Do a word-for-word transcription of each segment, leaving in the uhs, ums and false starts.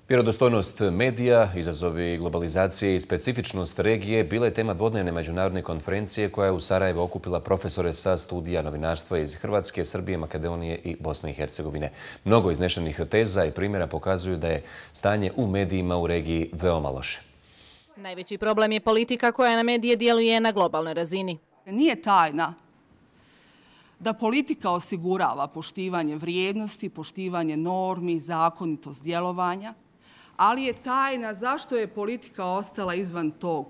Vjerodostojnost medija, izazovi globalizacije i specifičnost regije bila je tema dvodnevne međunarodne konferencije koja je u Sarajevu okupila profesore sa studija novinarstva iz Hrvatske, Srbije, Makedonije i Bosne i Hercegovine. Mnogo iznešenih teza i primjera pokazuju da je stanje u medijima u regiji veoma loše. Najveći problem je politika koja na medije djeluje na globalnoj razini. Nije tajna da politika osigurava poštivanje vrijednosti, poštivanje normi, zakonitost djelovanja, ali je tajna zašto je politika ostala izvan tog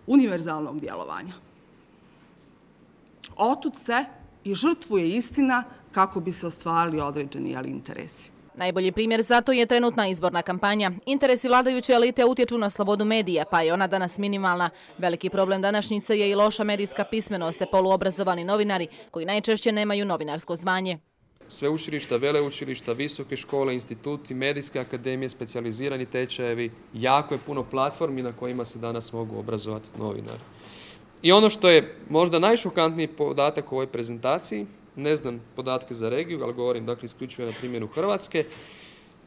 univerzalnog djelovanja. Otud se i žrtvuje istina kako bi se ostvarili određeni interesi. Najbolji primjer za to je trenutna izborna kampanja. Interesi vladajuće elite utječu na slobodu medija, pa je ona danas minimalna. Veliki problem današnjice je i loša medijska pismenost te poluobrazovani novinari koji najčešće nemaju novinarsko zvanje. Sveučilišta, veleučilišta, visoke škole, instituti, medijske akademije, specijalizirani tečajevi, jako je puno platformi na kojima se danas mogu obrazovati novinari. I ono što je možda najšokantniji podatak u ovoj prezentaciji, ne znam podatke za regiju, ali govorim dakle isključivo na primjeru Hrvatske,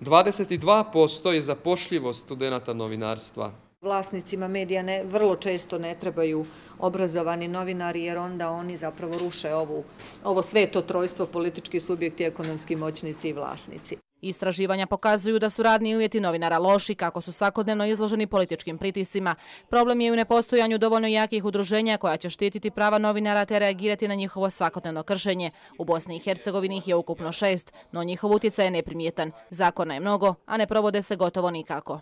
dvadeset dva posto je zapošljivost studenata novinarstva. Vlasnicima medija ne, vrlo često ne trebaju obrazovani novinari jer onda oni zapravo ruše ovu, ovo sveto trojstvo, politički subjekti, ekonomski moćnici i vlasnici. Istraživanja pokazuju da su radni uvjeti novinara loši, kako su svakodnevno izloženi političkim pritiscima. Problem je u nepostojanju dovoljno jakih udruženja koja će štititi prava novinara te reagirati na njihovo svakodnevno kršenje. U Bosni i Hercegovini ih je ukupno šest, no njihov utjecaj je neprimjetan. Zakona je mnogo, a ne provode se gotovo nikako.